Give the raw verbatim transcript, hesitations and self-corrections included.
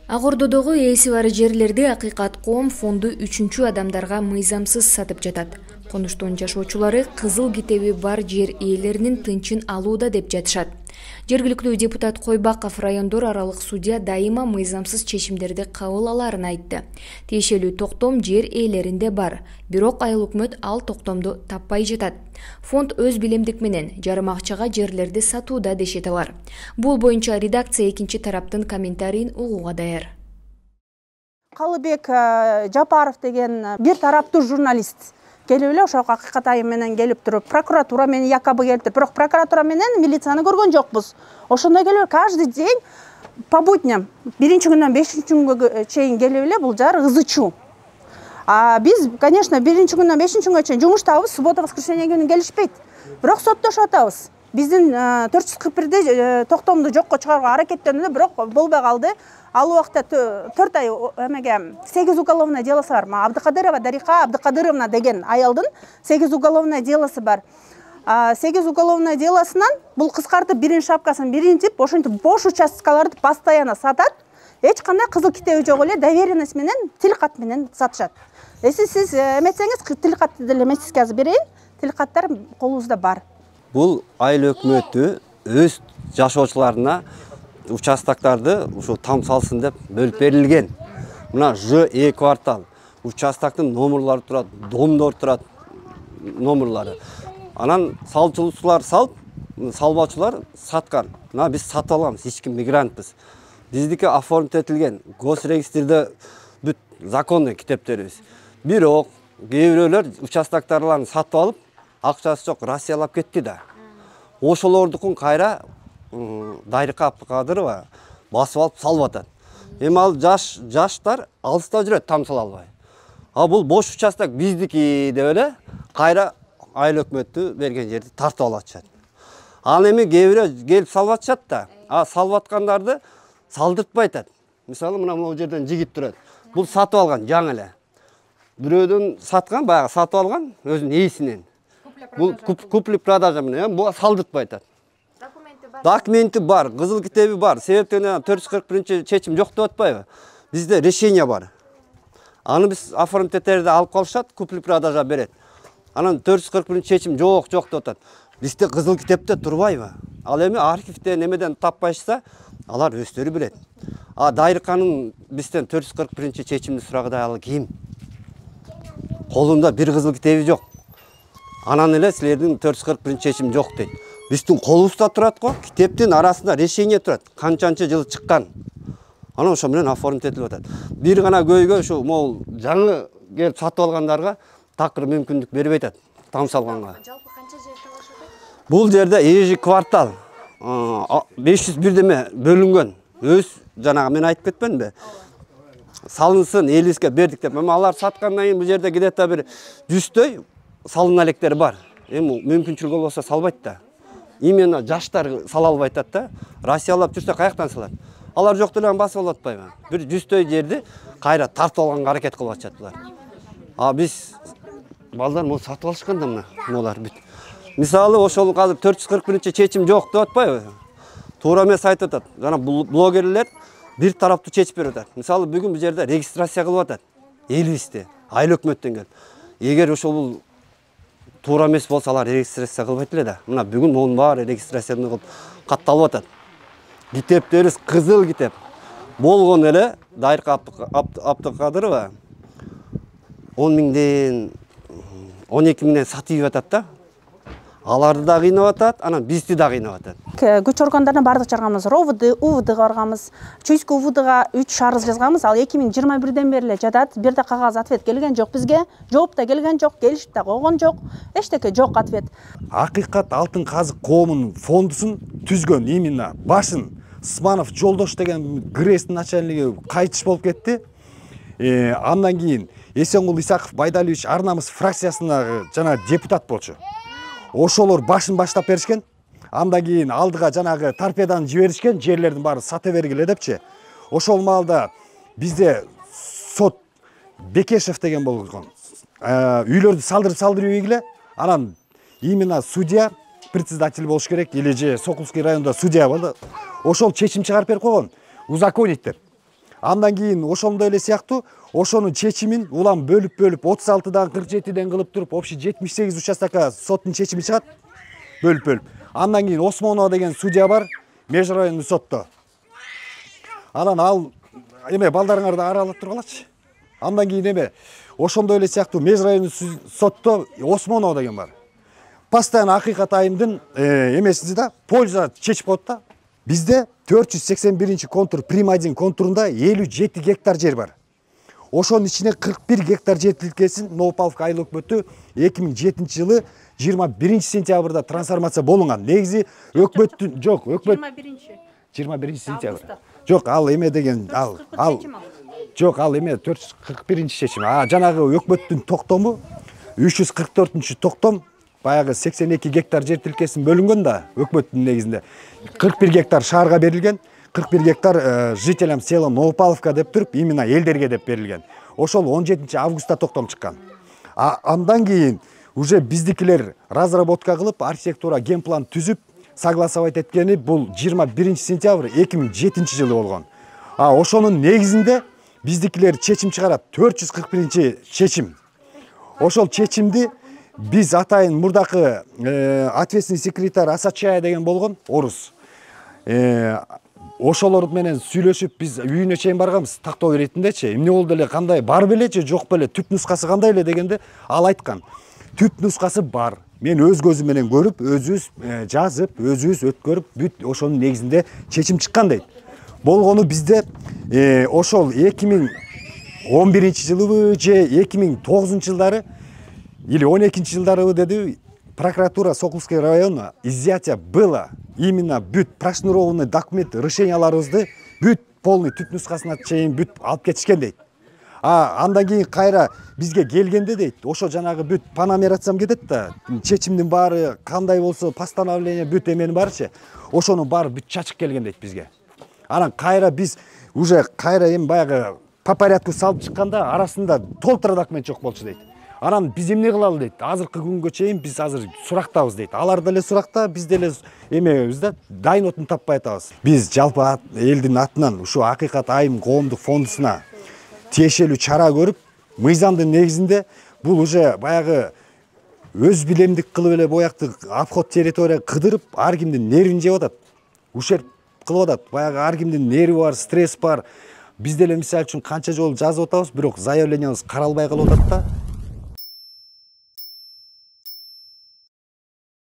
Ак Ордодогу ээси бар жерлерди Акыйкат коом фонду үчүнчү адамдарга мыйзамсыз сатып жатат. Конуштун жашоочулары кызыл китеби бар жер ээлеринин тынчын алууда деп жатышат. Жергиликтүү депутат Койбаков райондор аралык судья дайыма мыйзамсыз чечимдерди кабыл аларын айтты. Тиешелүү токтом жер ээлеринде бар, бирок айыл өкмөт ал токтомду таппай жатат. Фонд өз билемдик менен жарым акчага жерлерди сатууда дешет алар. Бул боюнча редакция экинчи тараптын комментарийин угууга даяр. Калыбек Жапаров деген бир тараптуу журналист келип эле ошол Акыйкат айым менен келип туруп, прокуратура менен якобы келип, бирок прокуратура менен милицияны көргөн жокпуз. Ошондой келип каждый день по будням биринчи күндөн бешинчи күнгө чейин келип эле бул жар ызычуу. А биз, конечно, биринчи күндөн бешинчи күнгө чейин жумуштабыз, суббота воскресенье күнү келишпейт. Бирок соттошуп атабыз. Биздин төрт жүз кырк бирде токтомду жокко чыгарууга аракеттенип, бирок болбой калды. Ал убакта төрт ай эмеге сегиз уголовное делосы бар. Абдыкадырова Дариха Абдыкадыровна деген аялдын сегиз уголовное делосы бар. сегиз уголовное делосунан бул кыскартып биринин шапкасын биринтип, ошентип бош участкаларды постоянно сатат. Эч кандай кызыл китеби жок эле доверенность менен, тил кат менен сатышат. Эси сиз эметсеңиз, тил катты деле мен сизге азыр берейин. Тил каттар колубузда бар. Бул айыл өкмөтү өз жашоочуларына участоктарды ушу там салсын деп бөлүп берилген. Мына Ж Э квартал участоктун номерлары турат, домдор турат, номерлары. Анан салчылуулар салып, салбачылар саткан. Мына биз сатып алганбыз, эч ким мигрантпыз. Биздики оформить этилген, госрегистрде бүт законный китептерибиз. Бирок кээ бирөөлөр участоктарларын сатып алып, акчасы жок Россиялап кетти да. Ошолордукун кайра Дариха Абдыкадырова басып алып салып атат. Эми ал жаш жаштар алыста жүрөт, там сала албай. А бул бош участок биздики деп эле кайра айыл өкмөтү берген жерди тартып алып атышат. Ал эми кээ бирөө келип салып атышат да, а салып аткандарды салдыртпай атат. Мисалы мына могу жерден жигит турат. Бул сатып алган жаңы эле. Бирөөдөн саткан, баягы сатып алган өзүнүн ээсинен. Бул купли продажа менен бул салдыртпай атат. Документи бар, кызыл китеби бар. Себептен төрт жүз кырк биринчи чечим жок деп атпайбы? Бизде решение бар. Аны биз оформить этерде алып калышат, купли продажа берет. Анан төрт жүз кырк биринчи чечим жок, жок деп атат. Бизде кызыл китепте турбайбы? Ал эми архивде немеден таппайса, алар өздөрү билет. А Дариханын бизден төрт жүз кырк биринчи чечимди сурагыдай ал ким? Колунда бир кызыл китеби жок. Анан эле силердин төрт жүз кырк биринчи чечим жок дейт. Биздин колубузда турат го, китептин арасында решение турат. Канчанчы жыл чыккан. Анан ошо менен оформить этилип атат. Бир гана көйгөй ушу могул жаңы келип сатып алгандарга такыр мүмкүндүк бербей атат, там салганга. Жалпы канча жер талашып атат? Бул жерде эжи квартал беш жүз бирдеме бөлүнгөн. Өз жанагы мен айтып кетпенби? Салынсын, элибизге бердик деп. Эми алар саткандан кийин бул жерде где-то бир жүздөй салын электер бар. Эми мүмкүнчүлүк болбосо салбайт да. Именно жаштар сала албай атат да. Россиялап жүрсө каяктан салат? Алар жок деле басып алып атпайбы? Бир жүздөй жерди кайра тартып алганга аракет кылып атышат булар. А биз балдар муну сатып алышкан да мына, булар бүт. Мисалы ошол азыр төрт жүз кырк биринчи чечим жок деп атпайбы? Туура эмес айтып атат. Жана блогерлер бир тараптуу чечип берип атат. Мисалы бүгүн бул жерде регистрация кылып атат. Элибизде айыл өкмөттөн келип. Эгер ошол бул туура эмес болсо алар регистрация кылбайт эле да. Мына бүгүн монун баары регистрацияны кылып катталып атат. Китептерибиз кызыл китеп. Болгон эле Дариха Абдыкадырова он миңден он эки миңден сатып атат да. Аларды да кыйнап атат, анан бизди да кыйнап атат. Күч органдарына бардык чыгарганбыз. РОВД, УВДга барганбыз. Чуйск УВДга үч арыз жазганбыз. Ал эки миң жыйырма бирден бери эле жатат. Бир да кагаз ответ келген жок бизге. Жооп да келген жок, келишип да койгон жок. Эчтеке жок ответ. Акыйкат алтын казык коомунун фондусун түзгөн именно башын Сманов Жолдош деген ГРЭСтин начальниги кайтыш болуп кетти. Андан кийин Эсенгул Исаков Байдалиевич Арнамыс фракциясына жана депутат болчу. Ошолор башын баштап беришкен. Андан кийин алдыга жанагы торпеданы жиберишкен, жерлердин баары сата бергиле депчи. Ошол маалда бизде сот Бекешев деген болгон. Үйлөрдү салдырып салдырып ийгиле. Анан именно судья председатель болуш керек, или же Сокулский районда судья болду. Ошол чечим чыгарып берип койгон. Узаконить деп. Андан кийин ошондой эле сыяктуу ошонун чечимин улам бөлүп бөлүп отуз алтыдан кырк жетиден кылып туруп общий жетимиш сегиз участокко соттун чечими чыгат бөлүп бөлүп. Андан кийин Осмонова деген судья бар межрайондуу сотто. Анан ал эме балдарыңарды аралап тургалачы. Андан кийин эме ошондой эле сыяктуу межрайондуу сотто Осмонова деген бар. Постоянно Акыйкат айымдын эмеси да польза чечип коет да. Бизде төрт жүз сексен биринчи контур Прим один контурунда элүү жети гектар жер бар. Ошонун ичине кырк бир гектар жер тилкесин Новопавловка айыл өкмөтү эки миң жетинчи жылы жыйырма биринчи сентябрда трансформация болгон. Негизи өкмөттүн жок, өкмөт жыйырма биринчи жыйырма биринчи сентябрь. Жок, ал эме деген ал ал жок, ал эме төрт жүз кырк биринчи чечим. А жанагы өкмөттүн токтому үч жүз кырк төртүнчү токтом баягы сексен эки гектар жер тилкесин бөлүнгөн да өкмөттүн негизинде. кырк бир гектар шаарга берилген, кырк бир гектар жителям села Новопавловка деп туруп именно элдерге деп берилген. Ошол он жетинчи августта токтом чыккан. А андан кийин уже биздикилер разработка кылып, архитектура генплан түзүп, согласовать эткени бул жыйырма биринчи сентябрь эки миң жетинчи жылы болгон. А ошонун негизинде биздикилер чечим чыгарат, төрт жүз кырк биринчи чечим. Ошол чечимди биз атайын мурдакы ответственный секретарь Асачая деген болгон, орус. Ошолор менен сүйлөшүп биз үйүнө чейин барганбыз, тактоо иретиндечи. Эмне болду эле, кандай, бар беле же жок беле, түп нускасы кандай эле дегенде ал айткан. Түп нускасы бар. Мен өз көзүм менен көрүп, өзүбүз жазып, өзүбүз өткөрүп, бүт ошонун негизинде чечим чыккан дейт. Болгону бизде ошол эки миң он биринчи жылыбы же эки миң тогузунчу жылдары или он экинчи жылдарыбы деди, прокуратура Сокулский района изъятие было. Именно бүт прошнурованный документ, решенияларыбызды бүт полный түп нускасына чейин бүт алып кетишкен дейт. А андан кийин кайра бизге келгенде дейт, ошо жанагы бүт панамератсам кетет да, чечимдин баары кандай болсо, постановление бүт эменин баарычы, ошонун баары бүт чачык келген дейт бизге. Анан кайра биз уже кайра эми баягы по порядку салып чыкканда арасында толтура документ жок болчу дейт. Анан биз эмне кылалы дейт. Азыркы күнгө чейин биз азыр сурактабыз дейт. Алар деле суракта, биз деле эмебиз да, дайын отун таппай атабыз. Биз жалпы элдин атынан ушу Акыйкат айым коомдук фондусуна тиешелүү чара көрүп, мыйзамдын негизинде бул уже баягы өз билемдик кылып эле боякты обход территория кыдырып, ар кимдин нервин жеп атат. Ушерп кылып атат. Баягы ар кимдин нерви бар, стресс бар. Биз деле мисалы үчүн канча жолу жазып атабыз, бирок заявлениябыз каралбай калып атат да.